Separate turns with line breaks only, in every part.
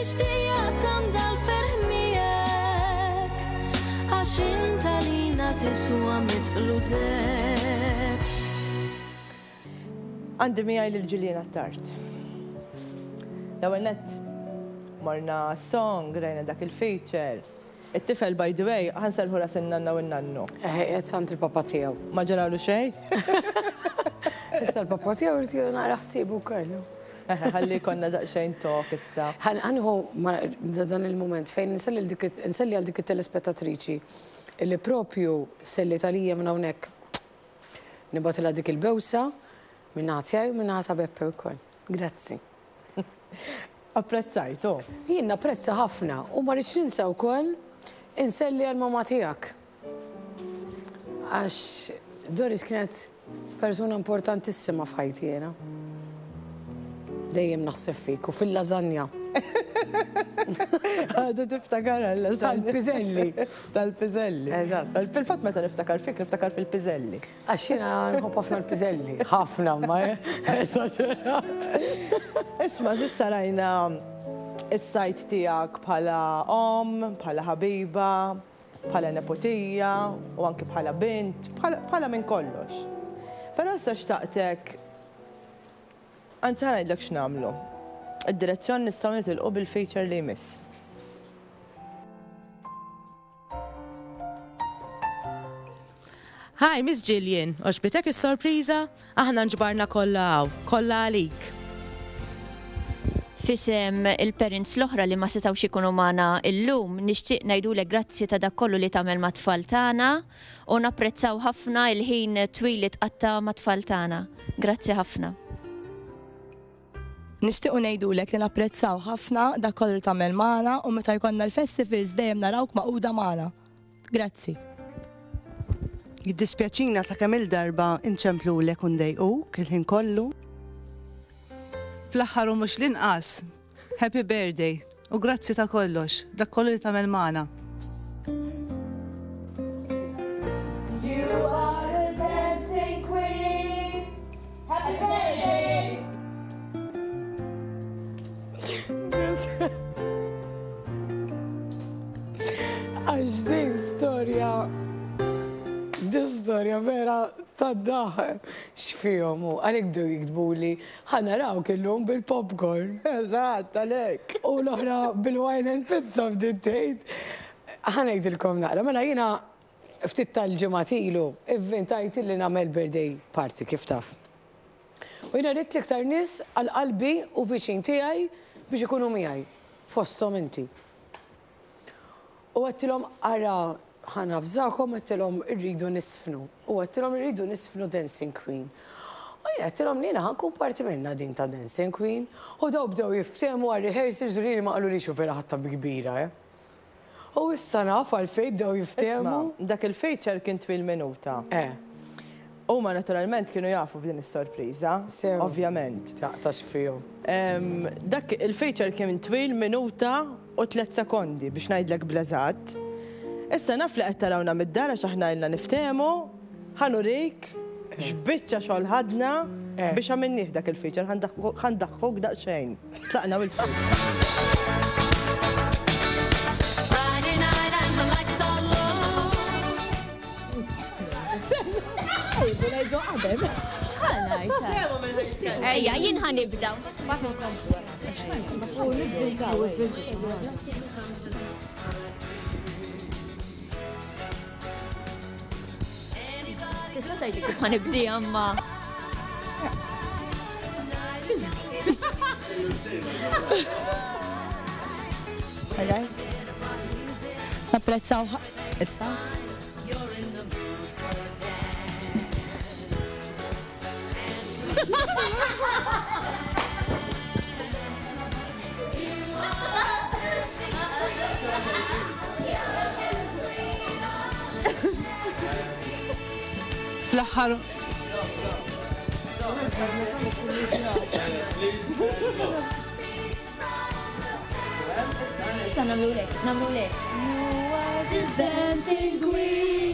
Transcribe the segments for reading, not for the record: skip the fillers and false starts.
jixtieq jaqsam dal-ferħ miegħek għax int għalina tiswa mitqlu deheb.
Għandi miegħi lil Gillian Attard. L-ewwel nett morna song, rajna dak il-feature. It-tifel by the way, ħa nserrħu ras in-nanna u n-nannu.
Eħe, qiegħed għand il-papa tiegħu.
Ma ġaralu xejn?
Issa l-papa tiegħu irid jieħu naqra ħsiebu wkoll.
Eħe, ħalli jkollna daqsxejn talk issa.
Ħa nieħu dan il-mument fejn nselli nselli għal dik it-telespettatriċi li propju selliet għalija minn hawnhekk. Nibgħatilha dik il-bewsa min-naħa tiegħi u min-naħa ta' Beppe wkoll. Grazzi.
Apprezzajt, oh.
Jien napprezza ħafna u ma rridx ninsa wkoll inselli għall-mamà tiegħek. Għax Doris kienet persuna importantissima f'ħajti jiena. Dejjem naħseb fik u fil-lażanja.
Għadu tiftakar għal-lażanja.
Tal-piżelli.
Tal-piżelli.
Eżatt.
Fil-fatt meta niftakar fik, niftakar fil-piżelli.
Għax jiena nħobb ħafna l-piżelli. Ħafna, ma esaġerat.
Isma' s'issa rajna s-sajt tiegħek bħala omm, bħala ħabiba, bħala neputija u anki bħala bint, bħala minn kollox. Però issa xtaqtek, anzi ħa ngħidlek x'nagħmlu. Id-direzzjoni nistgħu nitilqu bil-feature li jmiss.
Hi, Miss Gillian, għoġbitek is-sorpriża? Aħna nġbarna kollha hawn, kollha għalik.
F'isem il-parents l-oħra li ma setgħux ikunu magħna illum, nixtieq ngħidulek grazzi ta' dak kollu li tagħmel mat-tfal tagħna u napprezzaw ħafna il-ħin twil li tqatta' mat-tfal tagħna. Grazzi ħafna.
Nixtiequ ngħidulek li napprezzaw ħafna dak kollu li tagħmel magħna u meta jkollna l-festivals dejjem narawk magħquda magħna. Grazzi.
Jiddispjaċina ta' kemm-il darba nċemplulek u ndejquk il-ħin kollu.
Fl-aħħar u mhux l-inqas, Happy Birthday u grazzi ta' kollox, dak kollu li tagħmel magħna.
You are a dancing queen. Happy birthday!
Għax din storja, din storja vera tad-daħ x'fihom u għalhekk bdew jiktbuli ħa narawk illum bil-popcorn.
Eżatt, għalhekk.
U l-oħra bil-wine and pizza bdiet tgħid. Ħa ngħidilkom naqra, mela jiena ftit tal-ġimgħat ilu ivvintajt li nagħmel birthday party kif taf. U jiena ridt l-iktar nies għal qalbi u viċin tiegħi biex ikunu miegħi, fosthom inti. U għedtilhom ara ħa navżakom għedtilhom irridu nisfnu. U għedtilhom irridu nisfnu Dancing Queen. U jien għedtilhom li jiena ħa nkun parti minnha din ta' Dancing Queen. U daw bdew jiftehmu għar-rehearsals u lili ma qalulix u vera ħadtha bi kbira, eh. U issa naf għalfejn bdew jiftehmu.
Isma', dak il-feature kien twil minuta.
Eh.
Huma naturalment kienu jafu b'din is-sorpriża.
Sew.
Ovvjament.
Taqtax fihom.
Dak il-feature kien twil minuta u tlett sekondi biex ngħidlek bl-eżatt. Issa naf li qed tarawna mid-dar għax aħna ilna niftehmu, ħa nurik x'biċċa xogħol ħadna biex għamilnieh dak il-feature, ħa ndaħħkuk daqsxejn. Tlaqna Wilfred.
X'ħa ngħid? Ejja, jien ħa nibda. Tista' tgħidli kif ħa nibdiha imma.
Napprezzaw issa.
Fl-aħħar
Issa nagħmlulek, nagħmlulek. You are the dancing queen.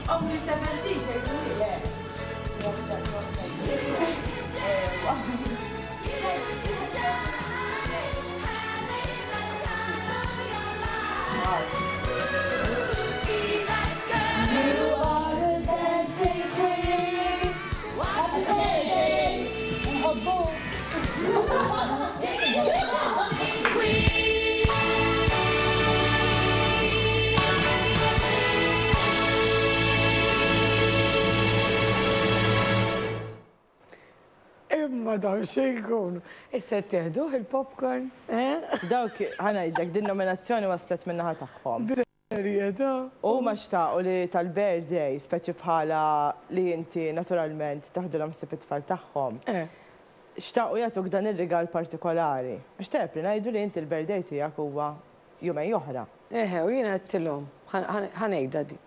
Only 17,
Imma dawn xi jkunu. Issa qed teħduh il-popcorn, eh?
Dawk, ħa ngħidlek, din nominazzjoni waslet min-naħa tagħhom.
Bis-serjetà?
Huma xtaqu li tal-birthday, speċi bħala li inti naturalment taħdilhom ħsieb it-tfal tagħhom. Xtaqu jagħtuk dan ir-rigal partikolari. Għax tajjeb li ngħidu li inti l-birthday tiegħek huwa jumejn oħra.
Eħe, u jiena għedtilhom, ħa ngħidha din.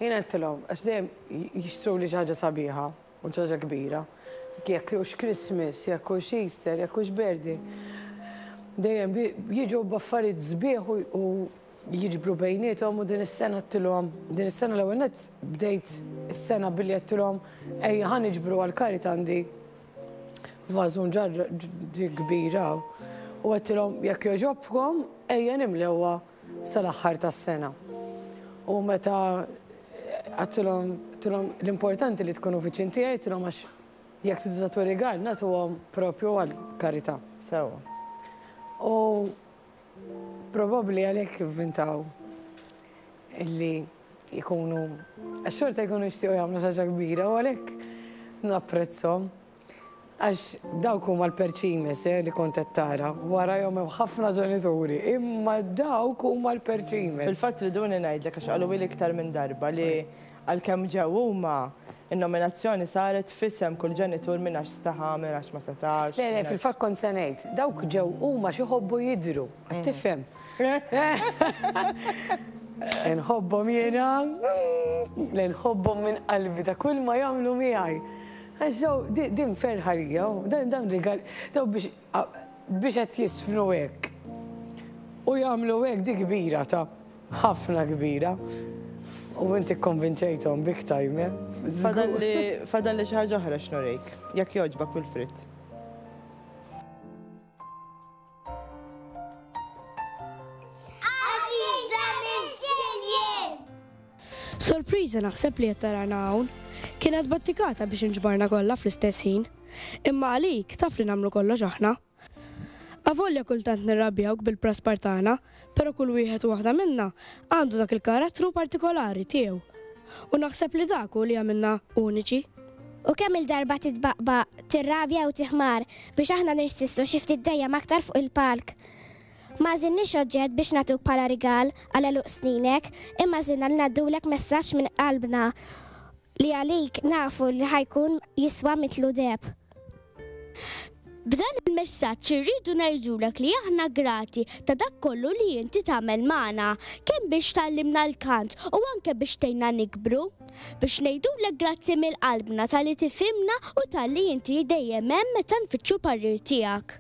Jiena għedtilhom, għax dejjem jixtruli xi ħaġa sabiħa u xi ħaġa kbira. Jekk hux Christmas, jekk hux Easter, jekk hux birthday. Dejjem jiġu b'affarijiet sbieħ u jiġbru bejniethom u din is-sena għedtilhom, din is-sena l-ewwel nett bdejt is-sena billi għedtilhom ejja ħa niġbru għall-karità għandi vażun ġarra kbir hawn u għedtilhom jekk jogħġobkom ejja nimlewha sal-aħħar tas-sena. U meta għedtilhom għedtilhom l-importanti li tkunu viċin tiegħi għedtilhom għax jekk tridu tagħtu rigal nagħtuhom propju għall-karità.
Sewwa.
U probabbli għalhekk ivvintaw illi jkunu għax xorta jkunu jixtiequ jagħmlu xi ħaġa kbira u għalhekk napprezzhom. Għax dawk huma l-perċimes eh, li kont qed tara. Warajhom hemm ħafna ġenituri, imma dawk huma l-perċimes.
Fil-fatt riduni ngħidlek għax qaluli iktar minn darba li għalkemm ġew huma, in-nominazzjoni saret f'isem kull ġenitur minn għax staħa, minn għax ma setax.
Le, le, fil-fatt kont se ngħid, dawk ġew huma għax iħobbu jidhru, qed tifhem? Inħobbhom jiena, le nħobbhom minn qalbi ta' kull ma jagħmlu miegħi. Għax daw, din ferħa lija, dan dan rigal, daw biex biex qed jisfnu hekk. U jagħmlu hekk di kbira ta' ħafna kbira. U inti kkonvinċejthom big time, eh?
Fadalli fadalli xi ħaġa oħra x'nurik, jekk jogħġbok Wilfrid.
Għażiża Miss Gillian! Sorpriża naħseb li qed tarana hawn. Kienet battikata biex inġbarna kollha fl-istess ħin. Imma għalik taf li nagħmlu kollox aħna. Avolja kultant nirrabjawk bil-praspar tagħna, però kull wieħed u waħda minna għandu dak il-karattru partikolari tiegħu. U naħseb li dak hu li jagħmilna uniċi.
U kemm-il darba titbaqbaq, tirrabja u tiħmar biex aħna nirsistu xi ftit dejjem aktar fuq il-palk. Ma għażilniex oġġett biex nagħtuk bħala rigal għal għeluq sninek, imma għażilna li ngħaddulek messaġġ minn qalbna li għalik nafu li ħa jkun jiswa mitlu deheb. B'dan il-messaġġ irridu ngħidulek li aħna grati ta' dak kollu li inti tagħmel magħna, kemm biex tgħallimna l-kant u anke biex tgħinna nikbru. Biex ngħidulek grazzi mill-qalbna talli tifhimna u talli inti dejjem hemm meta nfittxu parir tiegħek.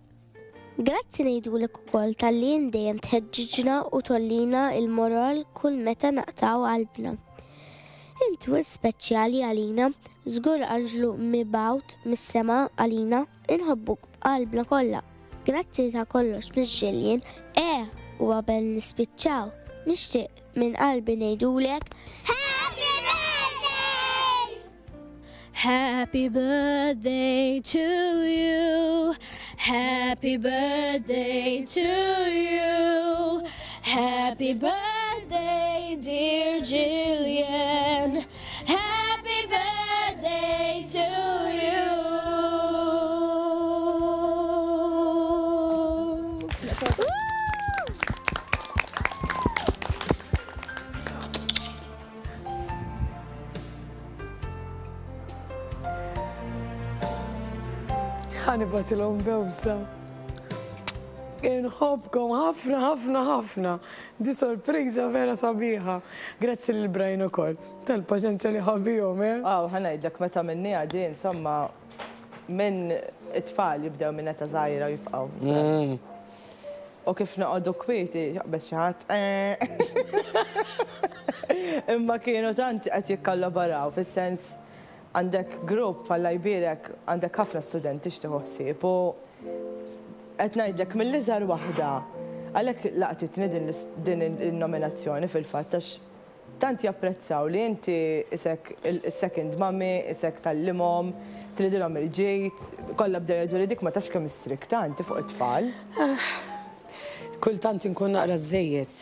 Grazzi ngħidulek ukoll talli int dejjem tħeġġiġna u tgħollina l-moral kull meta naqtgħu qalbna. Int wisq speċjali għalina, żgur anġlu mibgħut mis-sema għalina. Inħobbuk b'qalbna kollha. Grazzi ta' kollox Miss Gillian. Eh, u qabel nispiċċaw, nixtieq minn qalbi ngħidulek Happy Birthday!
Happy birthday to you. Happy birthday to you. Happy birthday, dear Gillian. Happy birthday to you.
Ħa nibgħatilhom bewsa. Inħobbkom ħafna ħafna ħafna. Di sorpriża vera sabiħa. Grazzi lil Brian ukoll tal-paċenzja li ħa bihom, eh.
Aw, ħa ngħidlek meta minniha di insomma minn it-tfal jibdew minn età żgħira u jibqgħu. U kif noqogħdu kwieti, jaqbeż xi ħadd, eh. Imma kienu tant qed jikkollaboraw fis-sens għandek grupp Alla jbierek għandek ħafna studenti x'tieħu ħsieb u qed ngħidlek mill-iżgħar waħda għalhekk laqtitni din in-nominazzjoni fil-fatt għax Tant japprezzaw li inti isek is-second mummy, isek tgħallimhom, tridilhom il-ġid, kollha bdew jgħiduli dik ma tafx kemm hi strikta inti fuq it-tfal.
Kultant inkun naqra żżejjed.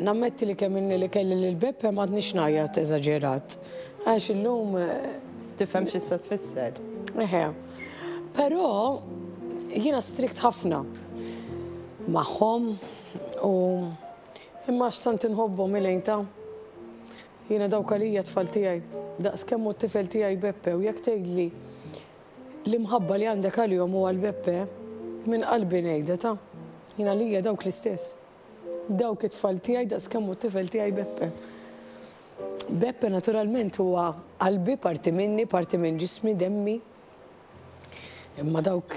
Nammetti li kemm ilni li kelli lil Beppe m'għadnix ngħajjat eżaġerat. Għax illum.
Tifhem x'issa tfisser.
Eħe. Però jiena strict ħafna magħhom u Imma għax tant inħobbhom Elaine ta. Jiena dawk għalija t-tfal tiegħi. Daqs kemm hu t-tifel tiegħi Beppe u jekk tgħidli l-imħabba li għandek għalihom u għal Beppe, minn qalbi ngħidha ta. Jien għalija dawk l-istess. Dawk it-tfal tiegħi daqs kemm hu t-tifel tiegħi Beppe. Beppe naturalment huwa qalbi, parti minni, parti minn ġismi, demmi. Imma dawk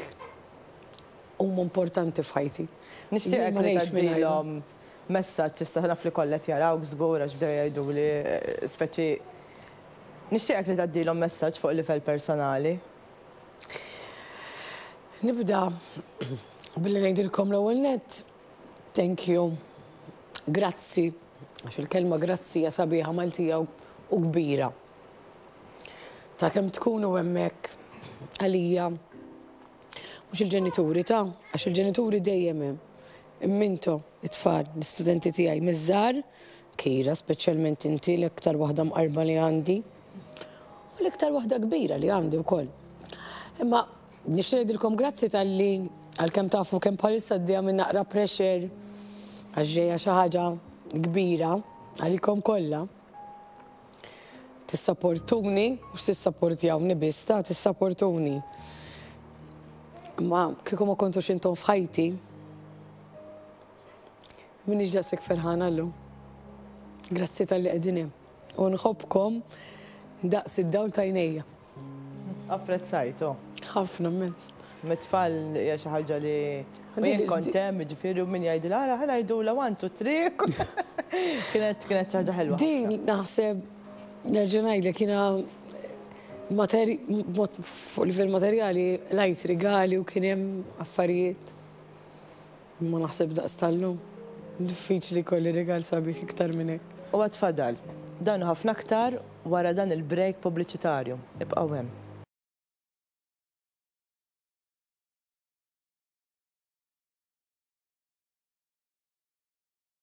huma importanti f'ħajti.
Nixtieqek li tgħaddilhom messaġġ issa naf li kollha qed jarawk żgur għax bdew jgħiduli speċi nixtieqek li tgħaddilhom messaġġ fuq livell personali.
Nibda billi ngħidilkom l-ewwel nett thank you, grazzi, għax il-kelma grazzi hija sabiħa Maltija u kbira. Ta' kemm tkunu hemmhekk għalija Mhux il-ġenituri ta, għax il-ġenituri dejjem hemm. Imma intom, it-tfal, l-istudenti tiegħi miż-żgħar, Kira speċjalment inti l-iktar waħda mqarba li għandi, u l-iktar waħda kbira li għandi wkoll. Imma nixtieq ngħidilkom grazzi talli għalkemm tafu kemm bħalissa għaddejja minn naqra pressure għax ġejja xi ħaġa kbira għalikom kollha. Tissaportuni, mhux tissapportjawni biss, ta' tissaportuni. Imma kieku ma kontux intom f'ħajti, m'iniex daqshekk ferħana llum. Grazzi talli qegħdin hemm. U nħobbkom daqs id-dawl t'għajnejja.
Apprezzajtu.
Ħafna immens.
Mit-tfal hija xi ħaġa li u jien kont hemm, jiġifieri u min jgħidilha ara ħa ngħidulha one two three. Kienet kienet xi ħaġa ħelwa.
Din naħseb nerġa' ngħidlek jiena mod fuq livell materjali lajt rigali u kien hemm affarijiet. Imma naħseb daqs tal-lum. Diffiċli jkolli rigal sabiħ iktar minn hekk.
U għad fadal. Dan u ħafna aktar wara dan il-break pubbliċitarju. Ibqgħu hemm.